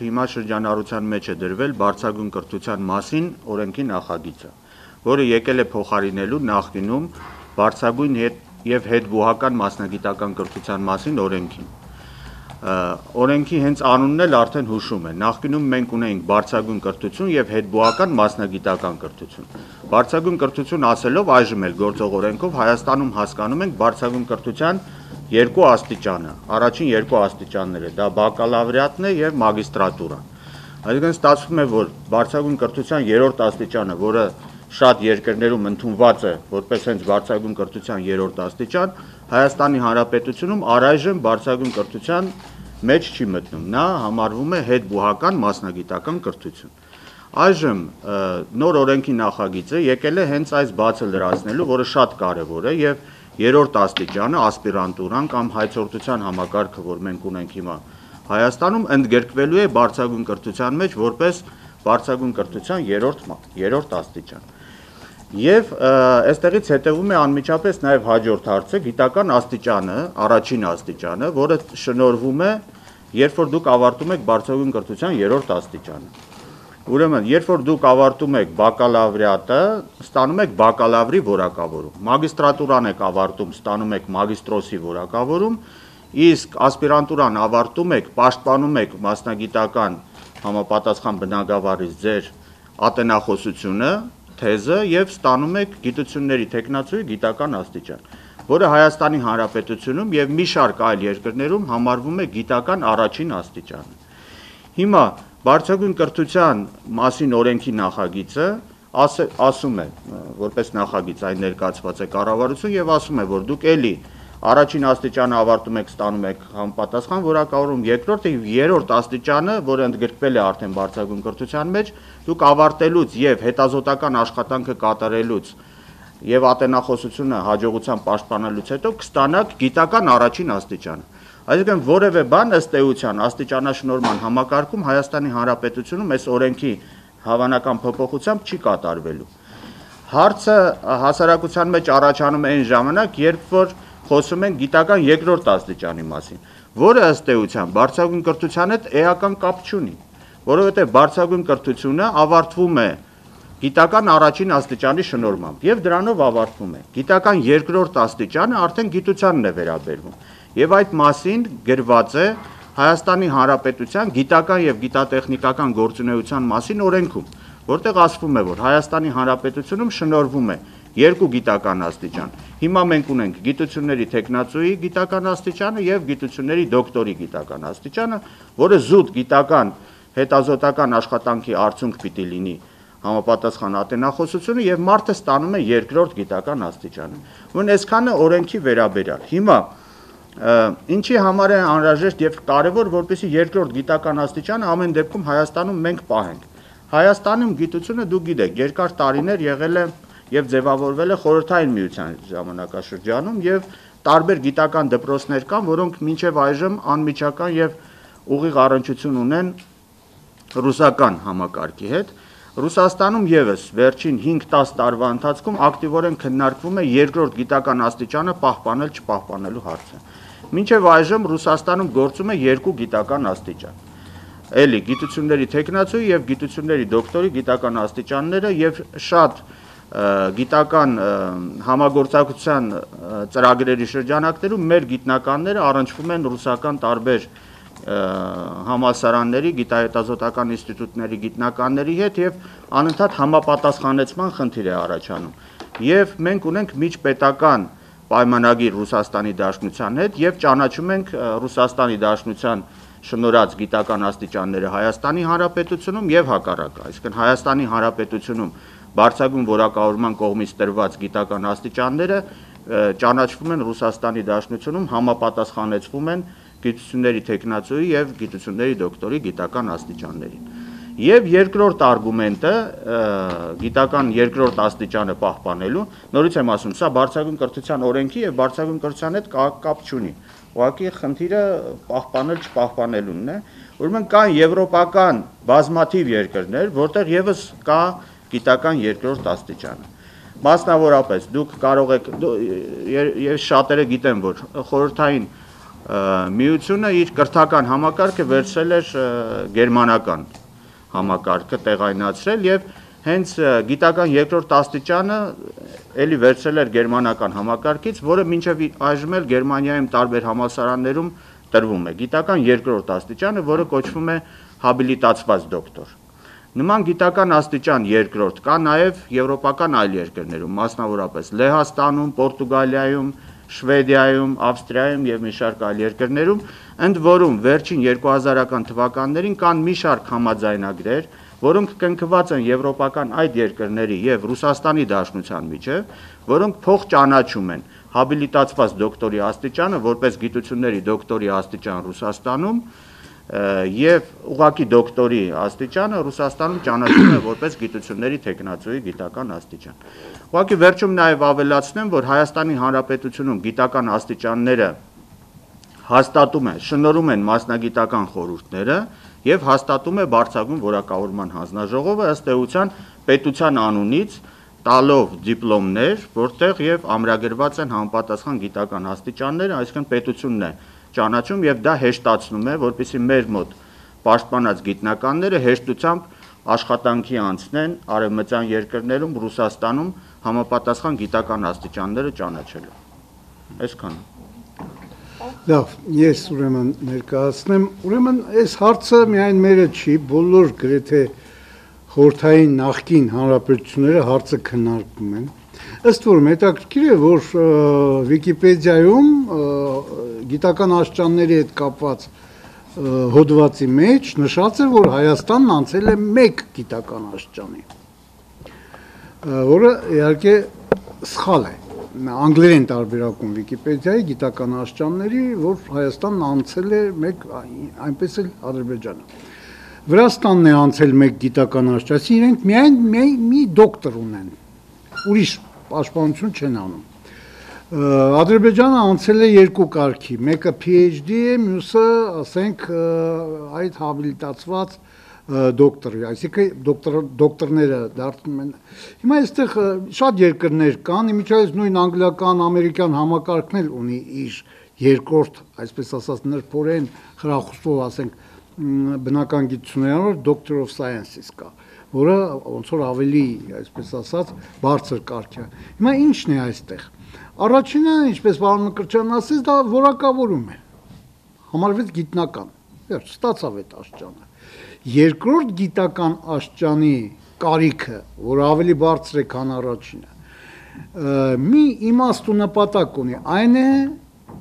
Հիմա շրջանառության մեջ է դրվել բարձրագույն կրթության մասին օրենքի նախագիծը, որը եկել է փոխարինելու նախկինում բարձրագույն եւ հետբուհական մասնագիտական կրթության մասին օրենքին։ Օրենքի հենց անունն էլ արդեն հուշում է, նախկինում մենք ունեինք բարձրագույն կրթություն եւ հետբուհական մասնագիտական կրթություն։ Բարձրագույն կրթություն ասելով այժմ էլ գործող օրենքով Հայաստանում հասկանում ենք բարձրագույն կրթության երկու աստիճանը, առաջին երկու աստիճանները, դա բակալավրիատն է եւ մագիստրատուրան։ Այսինքն ստացվում է, որ բարձրագույն կրթության երրորդ աստիճանը, որը շատ երկրներում ընդունված է որպես հենց բարձրագույն կրթության երրորդ աստիճան, Հայաստանի Հանրապետությունում առայժմ բարձրագույն կրթության մեջ չի մտնում, նա համարվում է հետբուհական մասնագիտական կրթություն։ Այժմ նոր օրենքի նախագիծը եկել է հենց այս բացը լրացնելու, որը շատ կարևոր է եւ երրորդ աստիճանը ասպիրանտուրան կամ հայցորդության համակարգը, որ մենք ունենք հիմա Հայաստանում, ընդգրկվելու է բարձրագույն կրթության մեջ որպես բարձրագույն կրթության երրորդ աստիճան։ Եվ այստեղից հետևում է անմիջապես նաև հաջորդ հարցը, գիտական աստիճանը, առաջին աստիճանը, որը շնորհվում է, երբ որ դուք ավարտում եք բարձրագույն կրթության երրորդ աստիճանը։ Ուրեմն, երբ որ դուք ավարտում եք բակալավրիատը, ստանում եք բակալավրի որակավորում, մագիստրատուրան եք ավարտում, ստանում եք մագիստրոսի որակավորում, իսկ ասպիրանտուրան ավարտում եք, պաշտպանում եք մասնագիտական համապատասխան բնագավառից ձեր ատենախոսությունը, թեզը եւ ստանում եք գիտությունների թեկնածուի գիտական աստիճան, որը Հայաստանի Հանրապետությունում եւ մի շարք այլ երկրներում համարվում է գիտական առաջին աստիճանը։ Հիմա բարձրագույն կրթության մասին օրենքի նախագիծը ասում է, որպես նախագիծ այն ներկայացված է կառավարություն եւ ասում է, որ դուք էլի առաջին աստիճանը ավարտում եք, ստանում եք համապատասխան որակավորում, երկրորդ եւ երրորդ աստիճանը, որը ընդգրկվել է արդեն բարձրագույն կրթության մեջ, դուք ավարտելուց եւ հետազոտական աշխատանքը կատարելուց եւ ատենախոսությունը հաջողությամբ պաշտպանելուց հետո կստանաք գիտական առաջին աստիճանը։ Այսինքն որևէ բան ըստ էության աստիճանաշնորհման համակարգում Հայաստանի Հանրապետությունում այս օրենքի հավանական փոփոխությամբ չի կատարվելու։ Հարցը հասարակության մեջ առաջանում է այն ժամանակ, երբ որ խոսում են գիտական երկրորդ աստիճանի մասին, որը ըստ էության բարձրագույն կրթության հետ էական կապ չունի, որովհետև բարձրագույն կրթությունը ավարտվում է գիտական առաջին աստիճանի շնորհմամբ եւ դրանով ավարտվում է։ Գիտական երկրորդ աստիճանը արդեն գիտությանն է վերաբերվում եւ այդ մասին գրված է Հայաստանի Հանրապետության գիտական եւ գիտատեխնիկական գործունեության մասին օրենքում, որտեղ ասվում է, որ Հայաստանի Հանրապետությունում շնորհվում է երկու գիտական աստիճան։ Հիմա մենք ունենք գիտությունների թեկնածուի գիտական աստիճանը եւ գիտությունների դոկտորի գիտական աստիճանը, որը զուտ գիտական հետազոտական աշխատանքի արդյունք պիտի լինի համապատասխան ատենախոսությունը եւ մարդը ստանում է երկրորդ գիտական աստիճանը։ Ուրեմն այսքանը օրենքի վերաբերյալ։ Հիմա ինչի համար է անհրաժեշտ եւ կարեւոր, որպեսզի երկրորդ գիտական աստիճանը ամեն դեպքում Հայաստանում մենք պահենք։ Հայաստանում գիտությունը դուք գիտեք, երկար տարիներ եղել է եւ ձևավորվել է Խորհրդային Միության ժամանակաշրջանում եւ տարբեր գիտական դպրոցներ կան, որոնք մինչեւ այժմ անմիջական եւ ուղիղ առնչություն ունեն ռուսական համակարգի հետ։ Ռուսաստանում եւս վերջին 5-10 տարվա ընթացքում ակտիվորեն քննարկվում է երկրորդ գիտական աստիճանը պահպանել չպահպանելու հարցը։ Մինչև այժմ Ռուսաստանում գործում է երկու գիտական աստիճան։ Էլի գիտությունների թեկնածուի եւ գիտությունների դոկտորի գիտական աստիճանները եւ շատ գիտական համագործակցության ծրագրերի շրջանակներում մեր գիտնականները առնչվում են ռուսական տարբեր համալսարանների, գիտահետազոտական ինստիտուտների գիտնականների հետ եւ անընդհատ համապատասխանեցման խնդիր է առաջանում։ Եվ մենք ունենք միջպետական պայմանագիր Ռուսաստանի Դաշնության հետ եւ ճանաչում ենք Ռուսաստանի Դաշնության շնորհած գիտական աստիճանները Հայաստանի Հանրապետությունում եւ հակառակը, այսինքն Հայաստանի Հանրապետությունում բարձրագույն որակավորման կողմից տրված գիտական աստիճանները ճանաչվում են Ռուսաստանի Դաշնությունում, համապատասխանեցվում են գիտությունների թեկնածուի եւ գիտությունների դոկտորի գիտական աստիճաններին։ Եվ երկրորդ արգումենտը գիտական երկրորդ աստիճանը պահպանելու, նորից եմ ասում, սա բարձրագույն կրթության օրենքի եւ բարձրագույն կրթության հետ կապ չունի։ Ուղղակի խնդիրը պահպանել չպահպանելունն է։ Ուրեմն կան եվրոպական բազմաթիվ երկրներ, որտեղ եւս կա գիտական երկրորդ աստիճանը։ Մասնավորապես դուք կարող եք, եւ շատերը գիտեն, որ խորհրդային Միությունը իր կրթական համակարգը վերցրել էր գերմանական համակարգը տեղայնացրել եւ հենց գիտական երկրորդ աստիճանը էլի վերցրել էր գերմանական համակարգից, որը մինչև այժմ էլ Գերմանիայում տարբեր համալսարաններում տրվում է։ Գիտական երկրորդ աստիճանը, որը կոչվում է հաբիլիտացված դոկտոր։ Նման գիտական աստիճան երկրորդ կա նաև եվրոպական այլ երկրներում, մասնավորապես Լեհաստանում, Պորտուգալիայում, Շվեդիայում, Ավստրիայում եւ մի շարք այլ երկրներում, ընդ որում վերջին 2000-ական թվականներին կան մի շարք համաձայնագրեր, որոնք կնքված են եվրոպական այդ երկրների եւ Ռուսաստանի Դաշնության միջեւ, որոնք փոխճանաչում են հաբիլիտացված դոկտորի աստիճանը որպես գիտությունների դոկտորի աստիճան Ռուսաստանում եւ ուղղակի դոկտորի աստիճանը Ռուսաստանում ճանաչվում է որպես գիտությունների տեխնացուի գիտական աստիճան։ Ուղղակի վերջում նաեւ ավելացնեմ, որ Հայաստանի Հանրապետությունում գիտական աստիճանները հաստատում են, շնորհում են մասնագիտական խորհուրդները եւ հաստատում է բարձրագույն որակավորման հանձնաժողովը ըստ էության պետության անունից տալով դիպլոմներ, որտեղ եւ ամրագրված են համապատասխան գիտական աստիճանները, այսինքն պետությունն է ճանաչում եւ դա հեշտացնում է, որպեսզի մեր մոտ պաշտպանած գիտնականները հեշտությամբ աշխատանքի անցնեն արևմտյան երկրներում, Ռուսաստանում համապատասխան գիտական աստիճանները ճանաչելու։ Այսքանը։ Լավ, ես ուրեմն ներկայացնեմ, ուրեմն այս հարցը միայն մերը չի, բոլոր գրեթե խորհրդային նախկին հանրապետությունները հարցը քննարկում են։ Ըստ որում հետաքրքիր է, որ Վիկիպեդիայում գիտական աստիճանների հետ կապված հոդվածի մեջ նշած է, որ Հայաստանն անցել է 1 գիտական աստիճանի, որը իհարկե սխալ է։ Անգլերեն տարբերակում Վիկիպեդիայի գիտական աստիճանների, որ Հայաստանն անցել է 1, այնպես էլ Ադրբեջանը։ Վրաստանն է անցել 1 գիտական աստիճան, իրենք միայն մի դոկտոր ունեն, ուրիշ պաշտպանություն չեն անում։ Ադրբեջանը անցել է 2 կարգի, մեկը PhD է, մյուսը, ասենք, այդ հաբիլիտացված դոկտոր, այսինքն դոկտորները դարձնում են։ Հիմա այստեղ շատ երկրներ կան, իմիջիայից նույն անգլիական, ամերիկյան համակարգն էլ ունի իր երկրորդ, այսպես ասած, նրբորեն խրախուսող, ասենք, բնական գիտություններով Doctor of Sciences կա, որը ոնց որ ավելի, այսպես ասած, բարձր կարգ է։ Հիմա ի՞նչն է այստեղ։ Առաջինը, ինչպես պարոն Մկրտչյանն ասեց, դա որակավորում է։ Համարվեց գիտնական։ Վերջ, ստացավ այդ աստիճանը։ Երկրորդ գիտական աստիճանի կարիքը, որ ավելի բարձր է, քան առաջինը, մի իմաստ ու նպատակ ունի, այն է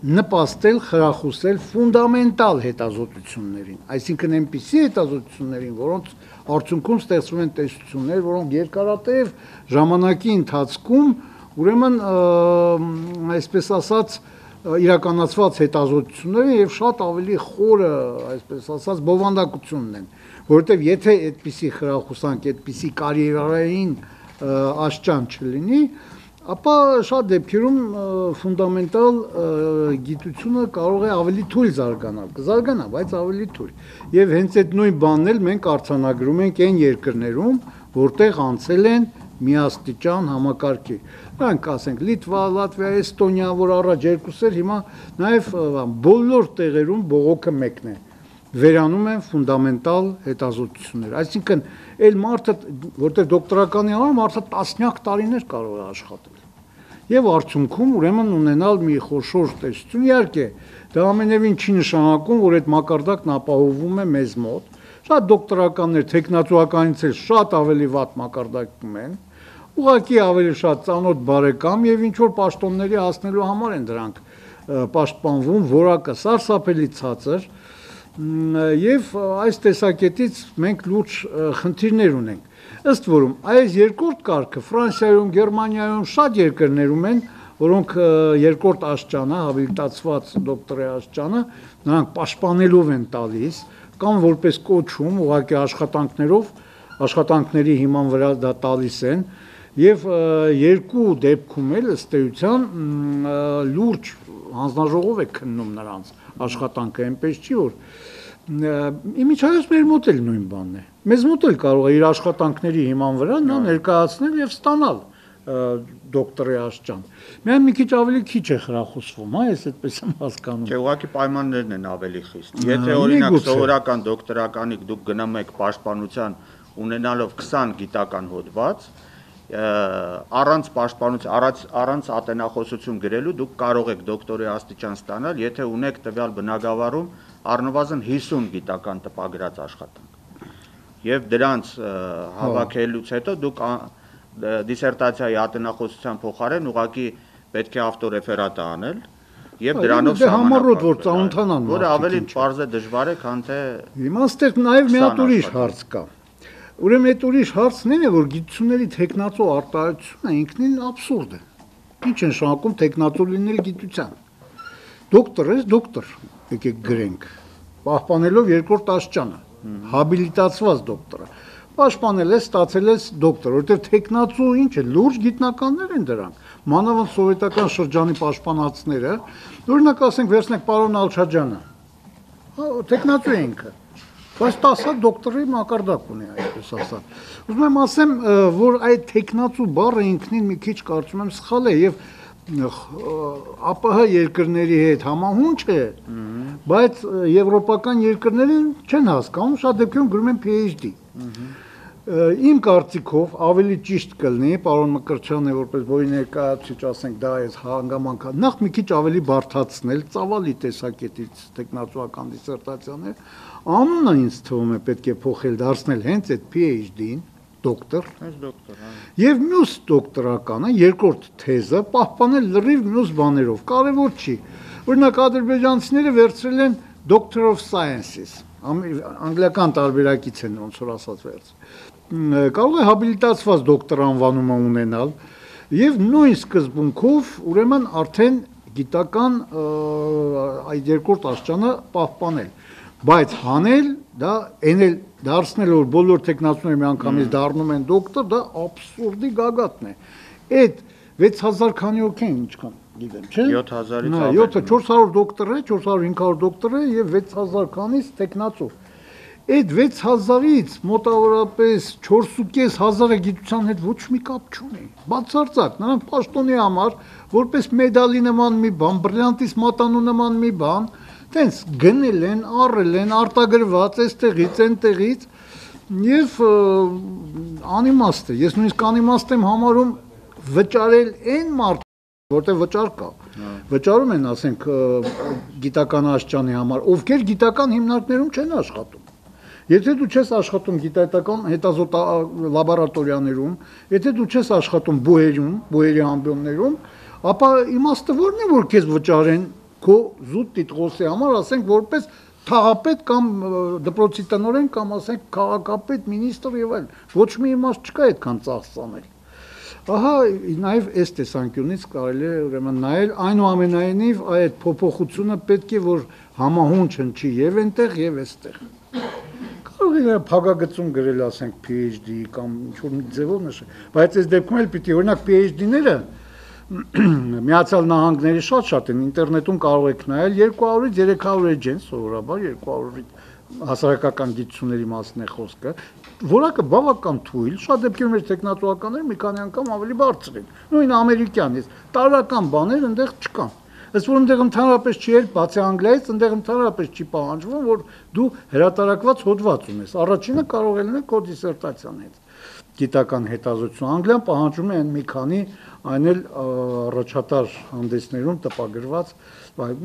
նպաստել, խրախուսել ֆունդամենտալ հետազոտություններին, այսինքն այնպիսի հետազոտություններին, որոնց արդյունքում ստեղծվում են տեսություններ, որոնք երկարատև ժամանակի ընթացքում ուրեմն այսպես ասած իրականացված հետազոտությունները եւ շատ ավելի խորը, այսպես ասած, բովանդակություն ունեն, որովհետեւ եթե այդպիսի խրախուսանք, այդպիսի կարիերային աստիճան չլինի, ապա շատ դեպքերում ֆունդամենտալ գիտությունը կարող է ավելի թույլ զարգանալ, կզարգանա, բայց ավելի թույլ։ Եվ հենց այդ նույն բանն էլ մենք արձանագրում ենք այն երկրներում, որտեղ անցել են միաստիճան համակարգի։ Նրանք ասենք Լիտվա, Լատվիա, Էստոնիա, որ առաջ երկուսը հիմա նաև բոլոր տեղերում բողոքը մեկն է։ Վերանում են ֆունդամենտալ հետազոտություններ։ Այսինքն, այլ մարդը, որտեղ դոկտորականի համար մարդը տասնյակ տարիներ կարող է աշխատել։ Եվ արդյունքում ուրեմն ունենալ մի խոշոր տեսություն, իհարկե, դա ամենևին չի նշանակում, որ այդ մակարդակն ապահովում է մեզ մոտ։ Շատ դոկտորականներ տեխնացուականից էլ շատ ավելի վատ մակարդակում են, ուղղակի ավելի շատ ծանոթ բարեկամ եւ ինչ որ պաշտոնների հասնելու համար են դրանք պաշտպանվում, որակը սարսափելի ցածր, եւ այս տեսակետից մենք լուրջ խնդիրներ ունենք։ Ըստ որում, այս երկրորդ կարգը Ֆրանսիայում, Գերմանիայում շատ երկրներում են, որոնք երկրորդ աստիճանը, հաբիլիտացված դոկտորի աստիճանը, նրանք պաշտպանելով են տալիս, կամ որպես կոչում, ուղղակի աշխատանքների հիման վրա դա տալիս են, եւ երկու դեպքում էլ ըստ էության լուրջ հանձնաժողով է քննում նրանց աշխատանքը, այնպես չի որ իմիջիայից մեր մոտ էլ նույն բանն է։ Մեզ մոտ էլ կարող է իր աշխատանքների հիման վրա նա ներկայացնել եւ ստանալ դոկտորի աշճան։ Միայն մի քիչ ավելի քիչ է խրախուսվում, հա, ես այդպես եմ հասկանում։ Չէ, ուղղակի պայմաններն են ավելի խիստ։ Եթե օրինակ սովորական դոկտորականիկ դուք գնում եք պաշտպանության ունենալով 20 գիտական հոդված, առանց պաշտպանության, առանց ատենախոսություն գրելու դուք կարող եք դոկտորի աստիճան ստանալ, եթե ունեք տվյալ բնագավառում առնվազն 50 գիտական տպագրած աշխատանք։ Եվ դրանց հավաքելուց հետո դուք դիսերտացիայի ատենախոսության փոխարեն ուղղակի պետք է ավտորեֆերատ անել եւ դրանով համառոտ որ ծանոթանան, որը ավելի պարզ է դժվար է, քան թե հիմա այստեղ նաեւ մի հատ ուրիշ հարց կա։ Ուրեմն այդ ուրիշ հարցն է, որ գիտությունների տեխնացու արտահայտությունը ինքնին աբսուրդ է։ Ինչ են շարունակում տեխնացու լինել գիտության։ Դոկտոր ես, դոկտոր, եկեք գրենք, պահպանելով երկրորդ աշճանը, հաբիլիտացված դոկտորը։ Պաշտպանել ես, ստացել ես դոկտոր, որտեղ տեխնացու ինչ է, լուրջ գիտնականներ են դրանք։ Մանավանդ սովետական շրջանի պաշտպանածները, օրինակ ասենք վերցնենք պարոն Ալչաջյանը։ Տեխնացու է ինքը։ Բայց 10 դոկտորի մակարդակ ունի, այսպես ասած։ Ուզում եմ ասեմ, որ այդ տեխնացու բառը ինքնին մի քիչ կարծում եմ սխալ է եւ ԱՊՀ երկրների հետ համահունչ է, բայց եվրոպական երկրները չեն հասկանում, շատ դեպքերում գրում են PhD։ Իմ կարծիքով ավելի ճիշտ կլինի, պարոն Մկրտչյանը որպես որի ներկայացուցիչ ասենք դա այս հանգամանք, նախ մի քիչ ավելի բարդացնել, ծավալի տեսակետից տեխնացուական դիսերտացիաներ, անունը ինձ թվում է պետք է փոխել, դարձնել հենց այդ PhD-ին, դոկտոր, եւ մյուս դոկտորականը, երկրորդ թեզը պահպանել լրիվ մյուս բաներով, կարևոր չի։ Օրինակ ադրբեջանցիները վերցրել են Doctor of Sciences, անգլիական տարբերակից են ոնց որ ասած վերցրել։ Կարող է հաբիլիտացված դոկտոր անվանումը ունենալ եւ նույն սկզբունքով ուրեմն արդեն գիտական այդ երկրորդ աշճանը պահպանել, բայց հանել դա էնել դարձնել որ բոլոր տեխնացուները միանգամից դառնում են դոկտոր, դա աբսուրդի գագաթն է։ Այդ 6000 քանի հոգի են ինչքան գիտեմ, չէ՞։ 7000-ից 400 դոկտոր է, 400-500 դոկտոր է եւ 6000 քանից տեխնացու։ Այդ 6000-ից մոտավորապես 4500-ը գիտության հետ ոչ մի կապ չունի։ Բացարձակ, նրանք պաշտոնի համար որպես մեդալի նման մի բան, բրիլյանտիս մատանու նման մի բան, տենց գնել են, առել են, արտագրված այստեղից, այնտեղից եւ անիմաստ է։ Ես նույնիսկ անիմաստ եմ համարում վճարել այն մարդ, որտեղ վճար կա։ Վճարում են, ասենք, գիտական աշճանի համար, ովքեր գիտական հիմնարկներում չեն աշխատում։ Եթե դու չես աշխատում գիտական հետազոտ լաբորատորիաներում, եթե դու չես աշխատում բուհերի ամբիոններում, ապա իմաստը ո՞րն է, որ քեզ վճարեն քո զուտ տիտղոսի համար, ասենք, որպես թաղապետ կամ դպրոցի տնօրեն կամ ասենք քաղաքապետ, մինիստր եւ այլն։ Ոչ մի իմաստ չկա այդքան ծախս անել։ Ահա նաև այս տեսանկյունից կարելի է ուրեմն նայել, այնուամենայնիվ այդ փոփոխությունը պետք է որ համահունչ հնչի եւ այնտեղ եւ այստեղ։ Կարող է փակագծում գրել, ասենք PhD կամ ինչ-որ մի ձևով նշել, բայց այս դեպքում էլ պիտի օրինակ PhD-ները Միացյալ Նահանգների շատ են, ինտերնետում կարող եք նայել 200-ից 300 էջեն, սովորաբար 200 հասարակական գիտությունների մասն է խոսքը, որակը բավական թույլ, շատ դեպքերում մեր տեխնատուականները մի քանի անգամ ավելի բարձր են, նույն ամերիկյանից, տարրական բաներ այնտեղ չկան։ Ըստ որ այնտեղ ընդհանրապես չի էլ, բացի Անգլիայից, այնտեղ ընդհանրապես չի պահանջվում, որ դու հրատարակված հոդված ունես։ Առաջինը կարող է լինել քո դիսերտացիան հետ գիտական հետազոտություն։ Անգլիան պահանջում է մի քանի այն էլ առաջատար հանդեսներում տպագրված,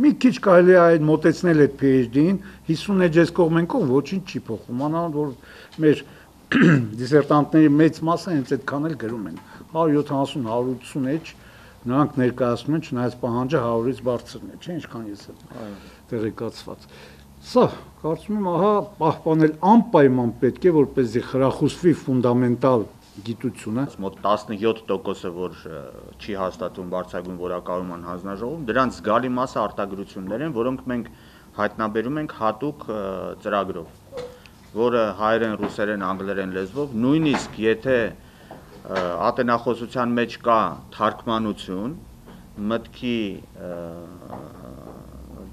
մի քիչ կարելի է այդ մոտեցնել այդ PhD-ին, 50 էջ կողմենքով ոչինչ չի փոխվում, մանավանդ որ մեր դիսերտանտների մեծ մասը հենց այդքան էլ գրում են, 170-180 էջ, նրանք ներկայացնում են, չնայած պահանջը 100-ից բարձրն է, չէ՞, ինչքան ես եմ տեղեկացված։ Սա, կարծում եմ, ահա պահպանել անպայման պետք է, որպեսզի խրախուսվի ֆունդամենտալ գիտությունը։ Մոտ 17%-ը, որ չի հաստատվում բարձրագույն որակավորման հանձնաժողովում, դրանց զգալի մասը արտագրություններ են, որոնք մենք հայտնաբերում ենք հատուկ ծրագրով, որը հայերեն, ռուսերեն, անգլերեն լեզվով, նույնիսկ եթե ատենախոսության մեջ կա թարգմանություն, մտքի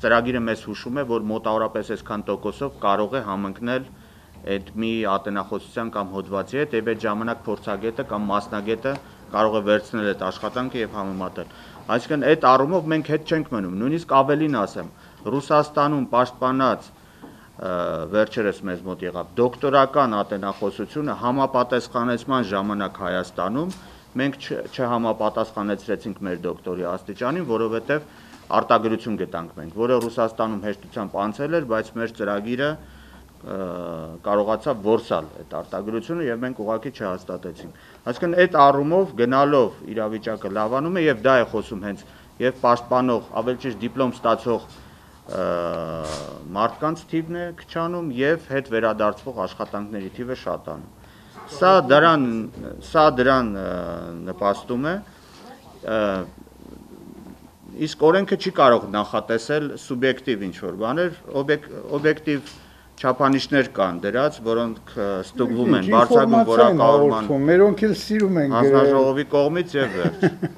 ծրագիրը մեզ հուշում է, որ մոտավորապես այսքան տոկոսով կարող է համընկնել այդ մի ատենախոսության կամ հոդվածի հետ, եւ այդ ժամանակ փորձագետը կամ մասնագետը կարող է վերցնել այդ աշխատանքը եւ համեմատել։ Այսինքն այդ առումով մենք հետ չենք մնում, նույնիսկ ավելին ասեմ, Ռուսաստանում պաշտպանած վերջերս մեզ մոտ եղավ դոկտորական ատենախոսությունը համապատասխանեցման ժամանակ Հայաստանում մենք չհամապատասխանեցրեցինք մեր դոկտորի աստիճանին, որովհետեւ արտագրություն գտանք մենք, որը Ռուսաստանում հեշտությամբ անցել էր, բայց մեր ծրագիրը կարողացավ որսալ այդ արտագրությունը եւ մենք ուղղակի չհաստատեցինք։ Այսինքն այդ առումով գնալով իրավիճակը լավանում է եւ դա է խոսում հենց եւ պաշտպանող, ավելի ճիշտ դիպլոմ ստացող մարդկանց թիվն է քչանում եւ հետ վերադարձվող աշխատանքների թիվը շատանում։ Սա դրան նպաստում է, իսկ օրենքը չի կարող նախատեսել սուբյեկտիվ ինչ-որ բաներ, օբյեկտիվ չափանիշներ կան դրած, որոնք ստուգվում են բարձրագույն որակավորման մերոնք էլ սիրում են հանձնաժողովի կողմից եւ վերջ։